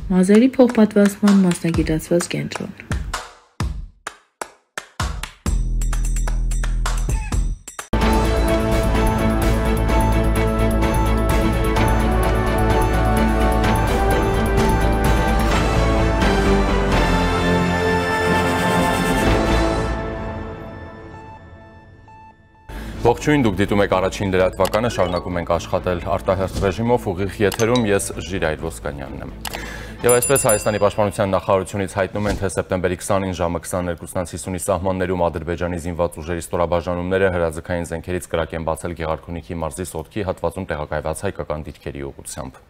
Մազերի փոխպատվաստման մասնագիտացված կենտրոն։ Ողջույն, դուք դիտում եք առաջին լրատվականը, շարունակում ենք աշխատել արտահերթ ռեժիմով, ուղիղ եթերում ես Ժիրայր Ոսկանյանն եմ։ Եվ այսպես Հայաստանի պաշտպանության նախարարությունից հայտնում են, թե սեպտեմբերի 20-ին ժամը 22:50-ի սահմաններում Ադրբեջանի զինված ուժերի ստորաբաժանումները հրաձգային զենքերից կրակ են բացել Գեղարքունիքի մարզի Սոտքի հատվածում տեղակայված հայկական դիրքերի ուղղությամբ։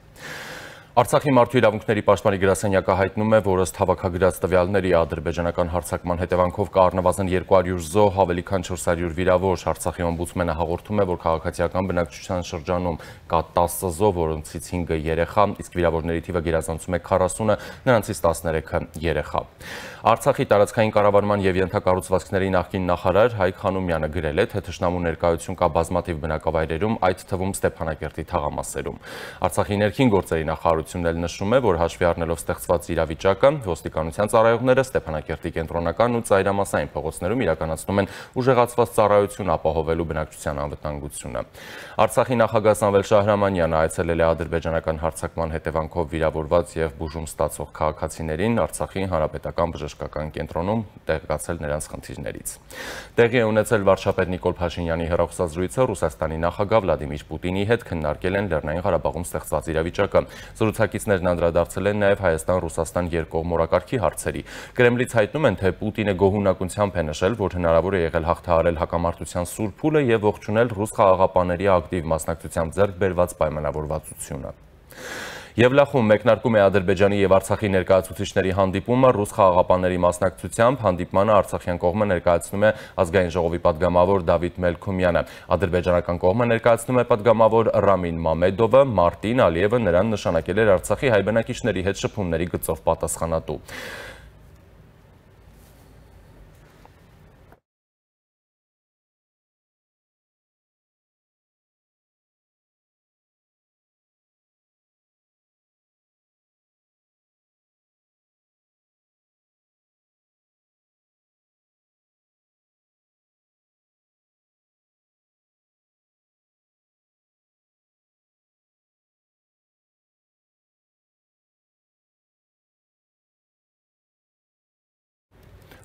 Արցախի մարդու իրավունքների պաշտպանի գրասենյակը հայտնում է, որ ըստ հավաքագրած տվյալների ադրբեջանական հարձակման հետևանքով կա առնվազն 200 զոհ, ավելի քան 400 վիրավոր։ Արցախի օմբուդսմենը հաղորդում է, որ քաղաքացիական բնակչության շրջանում կա 10 զոհ, որոնցից 5-ը երեխա, իսկ վիրավորների թիվը գերազանցում է 40-ը, նրանցից 13-ը երեխա։ Արցախի տարածքային կառավարման եւ ենթակառուցվածքների նախկին նախարար Հայկ Խանոմյանը գրել է, թե թշնամու ներկայություն կա բազմաթիվ բնակավայրերում, այդ թվում Ստեփանակերտի թաղամասերում։ Արցախի ներքին գործերի նախարարությունն էլ նշում է, որ հաշվի առնելով ստեղծված իրավիճակը, ոստիկանության ծառայողները Ստեփանակերտի կենտրոնական ու ծայրամասային փողոցներում իրականացնում են ուժեղացված ծառայություն ապահովելու բնակչության անվտանգությունը։ Արցախի նախագահ Սամվել Շահրամանյանը այցելել է ադրբեջանական հարձակման հետևանքով վիրավորված եւ բուժում ստացող քաղաքացիներին Արցախի հանրապետական բժշկական կենտրոնում տեղեկացել նրանց խնդիրներից։ Տեղի է ունեցել վարչապետ Նիկոլ Փաշինյանի հեռախոսազրույցը Ռուսաստանի նախագահ Վլադիմիր Պուտինի հետ քննարկել են Լեռնային Ղարաբաղում ստեղծված իրավիճակը։ Զրուցակիցներն անդրադարձել են նաև Հայաստան-Ռուսաստան երկկողմ օրակարգի հարցերի։ Կրեմլից հայտնում են, թե Պուտինը գոհունակությամբ է նշել, որ հնարավոր է եղել հաղթահարել հակամարտության սուր փուլը եւ ողջունել ռուս խաղաղապահների ակտիվ մասնակցությամբ ձեռք բերված պայմանավորվածությունը։ Եվլախում մեկնարկում է Ադրբեջանի եւ Արցախի ներկայացուցիչների հանդիպումը ռուս խաղաղապահների մասնակցությամբ։ Հանդիպմանը արցախյան կողմը ներկայացնում է ազգային ժողովի պատգամավոր Դավիթ Մելքումյանը։ Ադրբեջանական կողմը ներկայացնում է պատգամավոր Ռամին Մամեդովը, Մարտին Ալիևը նրան նշանակել էր Արցախի հայ բնակիչների հետ շփումների գծով պատասխանատու։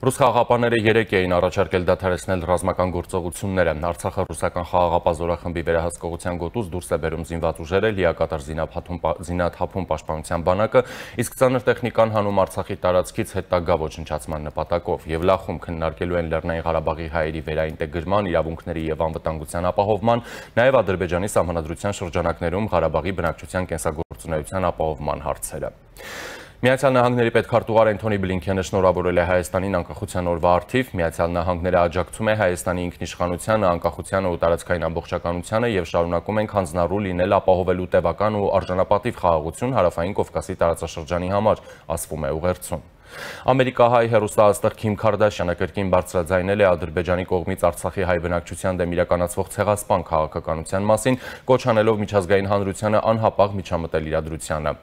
Ռուս խաղաղապահները 3 էին առաջարկել դադարեցնել ռազմական գործողությունները։ Արցախը ռուսական խաղաղապահ զորախմբի վերահսկողության գոտուց դուրս է բերում զինված ուժերը, լիակատար զինաթափում պաշտպանության բանակը, իսկ ծանր տեխնիկան հանում Արցախի տարածքից հետագա ոչնչացման նպատակով։ Եվլախում քննարկելու են Լեռնային Ղարաբաղի հայերի վերաինտեգրման, իրավունքների եւ անվտանգության ապահովման, նաեւ Ադրբեջանի սահմանադրության շրջանակներում Ղարաբաղի բնակչության կենսագործունեության ապահովման հարցերը։ Միացյալ Նահանգների պետքարտուղար Անթոնի Բլինքենը շնորհավորել է Հայաստանին անկախության օրվա առթիվ։ Միացյալ Նահանգները աջակցում է Հայաստանի ինքնիշխանությանը, անկախությանը ու տարածքային ամբողջականությանը եւ շարունակում ենք հանձնառու լինել ապահովելու տևական ու արժանապատիվ խաղաղություն Հարավային Կովկասի տարածաշրջանի համար, ասվում է ուղերձում։ Ամերիկահայ հեռուստաաստղ Քիմ Քարդաշյանը կրկին բարձրաձայնել է Ադրբեջանի կողմից Արցախի հայ բնակչության դեմ իրականացվող ցեղասպան քաղաքականության մասին, կոչ անելով միջազգային հանրությանը անհապաղ միջամտել իրադրությանը։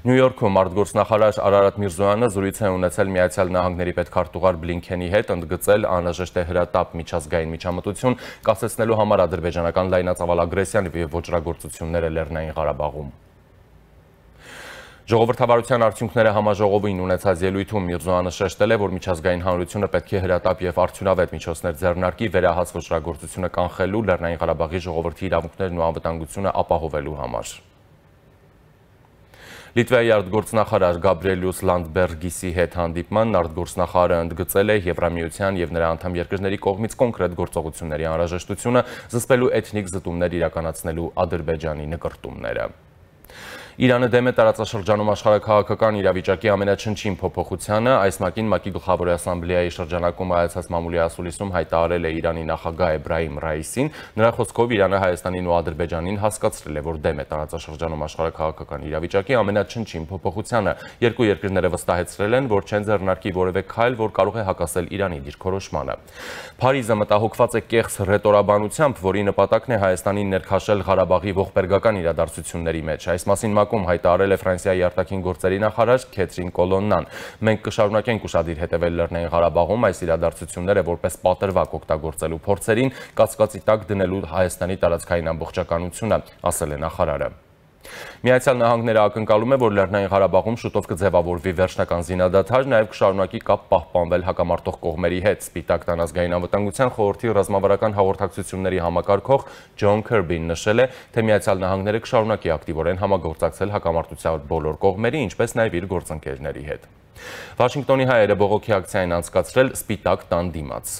Նյու Յորքում արտգործնախարար Արարատ Միրզոյանը զրույց է ունեցել Միացյալ Նահանգների պետքարտուղար Բլինքենի հետ, ընդգծել անհրաժեշտ է հրատապ միջազգային միջամտություն կասեցնելու համար ադրբեջանական լայնածավալ ագրեսիան եւ ոճրագործությունները Լեռնային Ղարաբաղում։ Ժողովրդավարության արդյունքները համաժողովին ունեցած ելույթում Միրզոյանը շեշտել է, որ միջազգային հանրությունը պետք է հրատապ եւ արդյունավետ միջոցներ ձեռնարկի վերահաս ոճրագործությունը կանխելու, Լեռնային Ղարաբաղի ժողովրդի իրավունքներն ու անվտանգությունը ապահովելու համար։ Լիտվայի արտգործնախարար Գաբրիելյուս Լանդբերգիսի հետ հանդիպմանն արտգործնախարարը ընդգծել է Եվրամիության եւ նրա անդամ երկրների կողմից կոնկրետ գործողությունների անհրաժեշտությունը զսպելու էթնիկ զտումներ իրականացնելու Ադրբեջանի նկրտումները։ Իրանը դեմ է տարածաշրջանում աշխարհաքաղաքական իրավիճակի ամենաչնչին փոփոխությանը, այս մակին ՄԱԿ-ի գլխավոր ասամբլեայի շրջանակում այցած մամուլի ասուլիսում հայտարարել է Իրանի նախագահ Էբրահիմ Ռայիսին, նրա խոսքով Իրանը Հայաստանին ու Ադրբեջանին հասկացրել է, որ դեմ է տարածաշրջանում աշխարհաքաղաքական իրավիճակի ամենաչնչին փոփոխությանը, երկու երկրները վստահեցրել են, որ չեն ձեռնարկի որևէ քայլ, որ կարող է հակասել Իրանի դիրքորոշմանը։ Փարիզը մտահոգված է կեղծ ռետորաբանությամբ, որի նպատակն է Հայաստանին ներքաշել Ղարաբաղի ողբերգական իրադարձությունների մեջ։ Այս մասին շրջանակում հայտարարել է Ֆրանսիայի արտաքին գործերի նախարար Քեթրին Կոլոննան։ Մենք կշարունակենք ուշադիր հետևել Լեռնային Ղարաբաղում այս իրադարձությունները որպես պատրվակ օգտագործելու փորձերին, կասկածի տակ դնելու Հայաստանի տարածքային ամբողջականությունը, ասել է նախարարը։ Միացյալ Նահանգները ակնկալում է, որ Լեռնային Ղարաբաղում շուտով կձևավորվի վերջնական զինադադար, նաև կշարունակի կապ պահպանվել հակամարտող կողմերի հետ։ Սպիտակ տան ազգային անվտանգության խորհրդի ռազմավարական հաղորդակցությունների համակարգող Ջոն Քըրբին նշել է, թե Միացյալ Նահանգները կշարունակի ակտիվորեն համագործակցել հակամարտության բոլոր կողմերի, ինչպես նաև իր գործընկերների հետ։ Վաշինգտոնի հայերը բողոքի ակցիա են անցկացրել Սպիտակ տան դիմաց։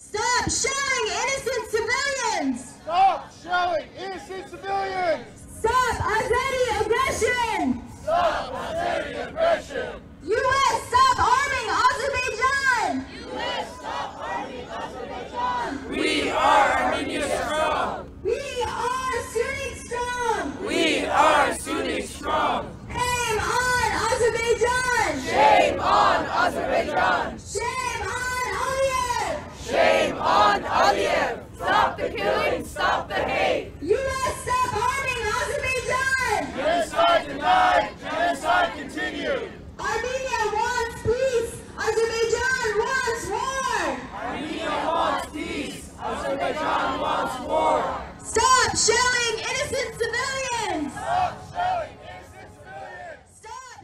Stop shelling innocent civilians! Stop shelling innocent civilians! Stop Azeri aggression! Stop Azeri aggression! U.S. stop arming Azerbaijan! U.S. stop arming Azerbaijan! We are Armenia strong! We are Sunni strong! We are Sunni strong! Shame on Azerbaijan! Shame on Azerbaijan! Shame on Aliyev! Shame on Aliyev! Stop the killing! Stop the hate! U.S. stop arming Azerbaijan! Genocide denied! Genocide continued! Armenia wants peace! Azerbaijan wants war! Armenia wants peace! Azerbaijan wants war! Stop shelling innocent civilians! Stop shelling innocent civilians! Stop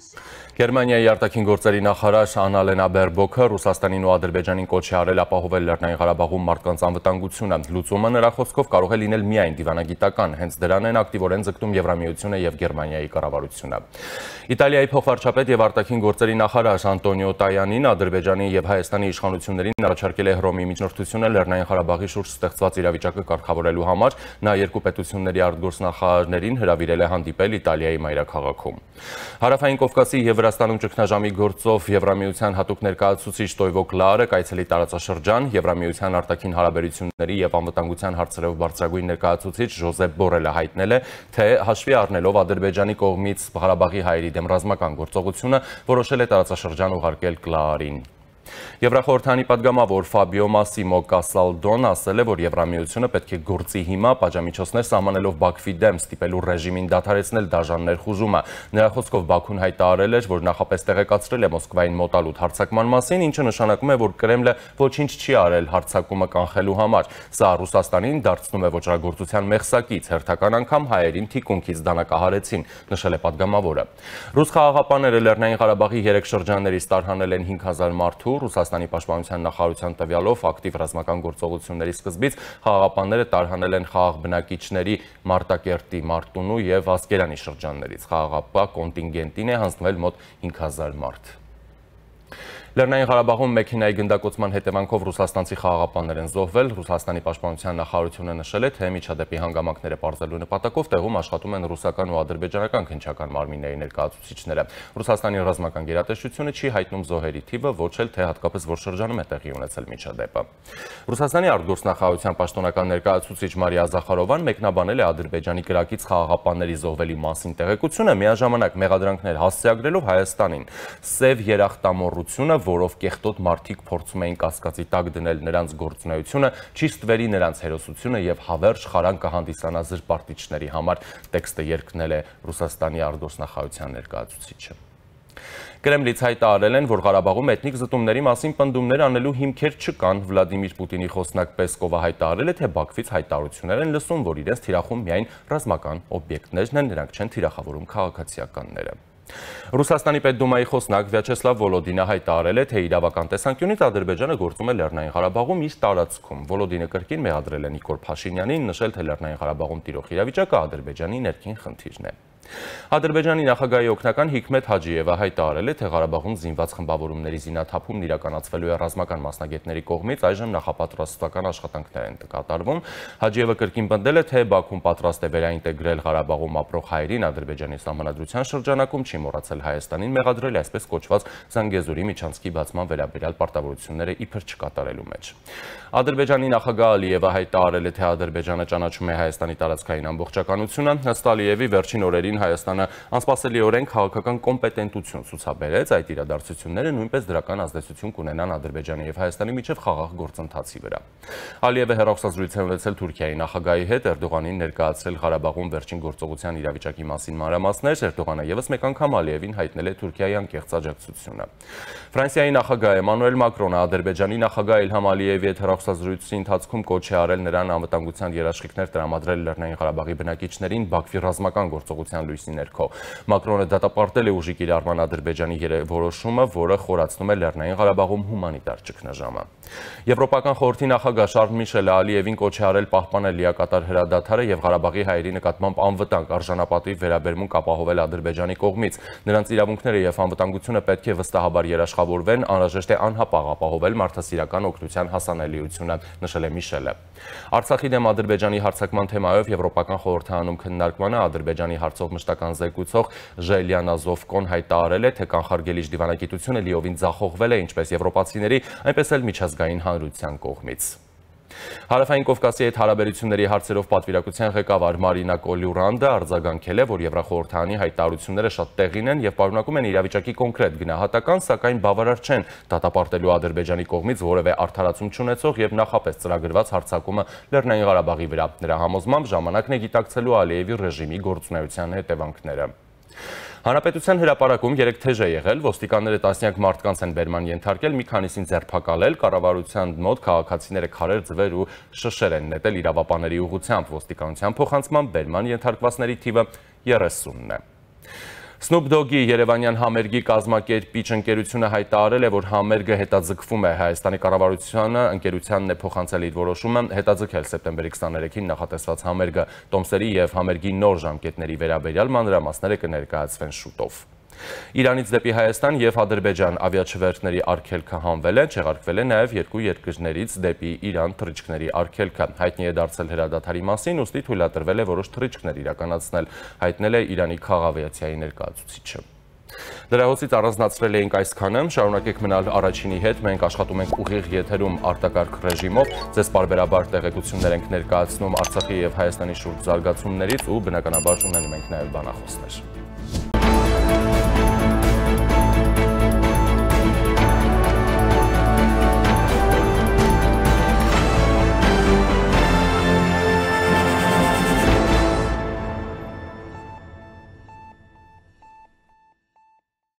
Գերմանիայի արտաքին գործերի նախարար Աննալենա Բերբոքը Ռուսաստանին ու Ադրբեջանին կոչ է արել ապահովել Լեռնային Ղարաբաղում մարդկանց անվտանգությունը։ Լուծումը նրա խոսքով կարող է լինել միայն դիվանագիտական, հենց դրան են ակտիվորեն ձգտում Եվրամիությունը եւ Գերմանիայի կառավարությունը։ Իտալիայի փոխվարչապետ եւ արտաքին գործերի նախարար Անտոնիո Տայանին Ադրբեջանի եւ Հայաստանի իշխանություններին առաջարկել է Հռոմի միջնորդությունը Լեռնային Ղարաբաղի շուրջ ստեղծված իրավիճակը կարգավորելու համար։ Նա երկու պետությունների արտգործնախարարներին հրավիրել է հանդիպել Իտալիայի մայրաքաղաքում։ Հարավային Կովկասի եւ Վրաստանում ճգնաժամի գործով Եվրամիության հատուկ ներկայացուցիչ Տոյվո Կլարը կայցելի տարածաշրջան, Եվրամիության արտաքին հարաբերությունների եւ անվտանգության հարցերով բարձրագույն ներկայացուցիչ Ժոզեփ Բորելը հայտնել է, թե հաշվի առնելով Ադրբեջանի կողմից Ղարաբաղի հայերի դեմ ռազմական գործողությունը, որոշել է տարածաշրջան ուղարկել Կլարին։ Եվրախորհրդանի падգամավոր Ֆաբիո Մասիմո Կասալդոն ասել է, որ Եվրամիությունը պետք է գործի հիմա պատժամիջոցներ սահմանելով Բաքվի դեմ ստիպելու ռեժիմին դադարեցնել դաժան ներխուժումը։ Նրա խոսքով Բաքուն հայտարարել էր, որ նախապես տեղեկացրել է Մոսկվային մոտալուտ հարձակման մասին, ինչը նշանակում է, որ Կրեմլը ոչինչ չի արել հարձակումը կանխելու համար։ Սա Ռուսաստանին դարձնում է ոճրագործության մեղսակից, հերթական անգամ հայերին թիկունքից դանակահարեցին, նշել է падգամավորը։ Ռուս խաղաղապահները Լեռնային Ղարաբաղի 3 շրջաններից տարհանել են 5000 մարդու, Ռուսաստանի պաշտպանության նախարարության տվյալով ակտիվ ռազմական գործողությունների սկզբից խաղաղապահները տարհանել են խաղաղ բնակիչների Մարտակերտի, Մարտունու եւ Ասկերանի շրջաններից։ Խաղաղապահ կոնտինգենտին է հանձնվել մոտ 5000 մարդ։ Լեռնային Ղարաբաղում մեքենայի գնդակոծման հետևանքով ռուսաստանցի խաղաղապահներ են զոհվել։ Ռուսաստանի պաշտպանության նախարարությունը նշել է, թե միջադեպի հանգամանքները պարզելու նպատակով տեղում աշխատում են ռուսական ու ադրբեջանական քննչական մարմինների ներկայացուցիչները։ Ռուսաստանի ռազմական գերատեսչությունը չի հայտնում զոհերի թիվը, ոչ էլ թե հատկապես որ շրջանում է տեղի ունեցել միջադեպը։ Ռուսաստանի արտգործնախարարության պաշտոնական ներկայացուցիչ Մարիա Զախարովան մեկնաբանել է Ադրբեջանի կրակից խաղաղապահների զոհվելի մասին տեղեկությունը, միաժամանակ մեղադրանքներ հասցեագրելով Հայաստանին։ Սև երախտամոռությունը, որով կեղտոտ մարդիկ փորձում էին կասկածի տակ դնել նրանց գործունեությունը, չի ստվերի նրանց հերոսությունը եւ հավերժ խարան կհանդիսանա զրպարտիչների համար, տեքստը երկնել է Ռուսաստանի արտգործնախարարության ներկայացուցիչը։ Կրեմլից հայտարարել են, որ Ղարաբաղում էթնիկ զտումների մասին պնդումներ անելու հիմքեր չկան։ Վլադիմիր Պուտինի խոսնակ Պեսկովը հայտարարել է, թե Բաքվից հայտարարություններ են լսում, որ իրենց թիրախում միայն ռազմական օբյեկտներն են, նրանք չեն թիրախավորում քաղաքացիականները։ Ռուսաստանի պետդումայի խոսնակ Վյաչեսլավ Վոլոդինը հայտարարել է, թե իրավական տեսանկյունից Ադրբեջանը գործում է Լեռնային Ղարաբաղում իր տարածքում։ Վոլոդինը կրկին մեղադրել է Նիկոլ Փաշինյանին, նշել, թե Լեռնային Ղարաբաղում տիրող իրավիճակը Ադրբեջանի ներքին խնդիրն է։ Ադրբեջանի նախագահի օգնական Հիկմեթ Հաջիևը հայտարարել է, թե Ղարաբաղում զինված խմբավորումների զինաթափումն իրականացվելու է ռազմական մասնագետների կողմից, այժմ նախապատրաստական աշխատանքներ են կատարվում։ Հաջիևը կրկին պնդել է, թե Բաքուն պատրաստ է վերաինտեգրել Ղարաբաղում ապրող հայերին Ադրբեջանի սահմանադրության շրջանակում, չի մոռացել Հայաստանին մեղադրել այսպես կոչված Զանգեզուրի միջանցքի բացման վերաբերյալ պարտավորությունները իբր չկատարելու մեջ։ Ադրբեջանի նախագահ Ալիևը հայտարարել է, թե Ադրբեջանը ճանաչում է Հայաստանի տարածքային ամբողջականությունը։ Ըստ Ալիևի վերջին օրերին Հայաստանը անսպասելիորեն քաղաքական կոմպետենտություն ցուցաբերեց, այդ իրադարձությունները նույնպես դրական ազդեցություն կունենան Ադրբեջանի եւ Հայաստանի միջև խաղաղ գործընթացի վրա։ Ալիևը հեռախոսազրույց է ունեցել Թուրքիայի նախագահի հետ, Էրդողանին ներկայացրել Ղարաբաղում վերջին գործողության իրավիճակի մասին մանրամասներ, Էրդողանը եւս մեկ անգամ Ալիևին հայտնել է Թուրքիայի անկեղծ աջակցությունը։ Ֆրանսիայի նախագահ Էմանուել Մակրոնը Ադրբեջանի նախագահ Իլհամ Ալիևի հետ հեռախոսազրույցի ընթացքում կոչ է արել նրան անվտանգության երաշխիքներ տրամադրել Լեռնային Ղարաբաղի բնակիչներին Բաքվի ռազմական գործողության լույսի ներքո։ Մակրոնը դատապարտել է ուժի կիրառման Ադրբեջանի որոշումը, որը խորացնում է Լեռնային Ղարաբաղում հումանիտար ճգնաժամը։ Եվրոպական խորհրդի նախագահ Շարլ Միշելը Ալիևին կոչ է արել պահպանել լիակատար հրադադարը եւ Ղարաբաղի հայերի նկատմամբ անվտանգ արժանապատիվ վերաբերմունք ապահովել Ադրբեջանի կողմից։ Նրանց իրավունքները եւ անվտանգությունը պետք է վստահաբար երաշխավորվեն, անհրաժեշտ է անհապաղ ապահովել մարդասիրական օգնության հասանելիությունը, նշել է Միշելը։ Արցախի դեմ Ադրբեջանի հարձակման թեմայով Եվրոպական խորհրդարանում քննարկմանը Ադրբեջանի հարցով մշտական զեկուցող Ժելիանա Զովկոն հայտարարել է, թե կանխարգելիչ դիվանագիտությունը լիովին ձախողվել է ինչպես եվրոպացիների, այնպես էլ միջազգային հանրության կողմից։ Հարավային Կովկասի հետ հարաբերությունների հարցերով պատվիրակության ղեկավար Մարինա Կոլյուրանդը արձագանքել է, որ Եվրախորհրդարանի հայտարարությունները շատ տեղին են եւ պարունակում են իրավիճակի կոնկրետ գնահատական, սակայն բավարար չեն դատապարտելու Ադրբեջանի կողմից որևէ արդարացում չունեցող եւ նախապես ծրագրված հարձակումը Լեռնային Ղարաբաղի վրա։ Նրա համոզմամբ ժամանակն է գիտակցելու Ալիևի ռեժիմի գործունեության հետևանքները։ Հանրապետության հրապարակում 3 թեժ է եղել, ոստիկանները տասնյակ մարդկանց են բերման ենթարկել, մի քանիսին ձերբակալել, կառավարության մոտ քաղաքացիները քարեր, ձվեր ու շշեր են նետել իրավապանների ուղղությամբ, ոստիկանության փոխանցմամբ բերման ենթարկվածների թիվը 30-ն է։ Snoop Dogg-ի երևանյան համերգի կազմակերպիչ ընկերությունը հայտարարել է, որ համերգը հետաձգվում է։ Հայաստանի կառավարությունը ընկերությանն է փոխանցել իր որոշումը հետաձգել սեպտեմբերի 23-ին նախատեսված համերգը։ Տոմսերի եւ համերգի նոր ժամկետների վերաբերյալ մանրամասները կներկայացվեն շուտով։ Իրանից դեպի Հայաստան եւ Ադրբեջան ավիաչվերթների արգելքը հանվել է, չեղարկվել է նաեւ երկու երկրներից դեպի Իրան թռիչքների արգելքը։ Հայտնի է դարձել հրադադարի մասին, ուստի թույլատրվել է որոշ թռիչքներ իրականացնել, հայտնել է Իրանի քաղաքավիացիայի ներկայացուցիչը։ Դրահոսից առանձնացրել էինք այսքանը, շարունակեք մնալ առաջինի հետ, մենք աշխատում ենք ուղիղ եթերում արտակարգ ռեժիմով, ձեզ պարբերաբար տեղեկություններ ենք ներկայացնում Արցախի եւ Հայաստանի շուրջ զարգացումներից ու բնականաբար ունենում ենք նաեւ բանախոսներ։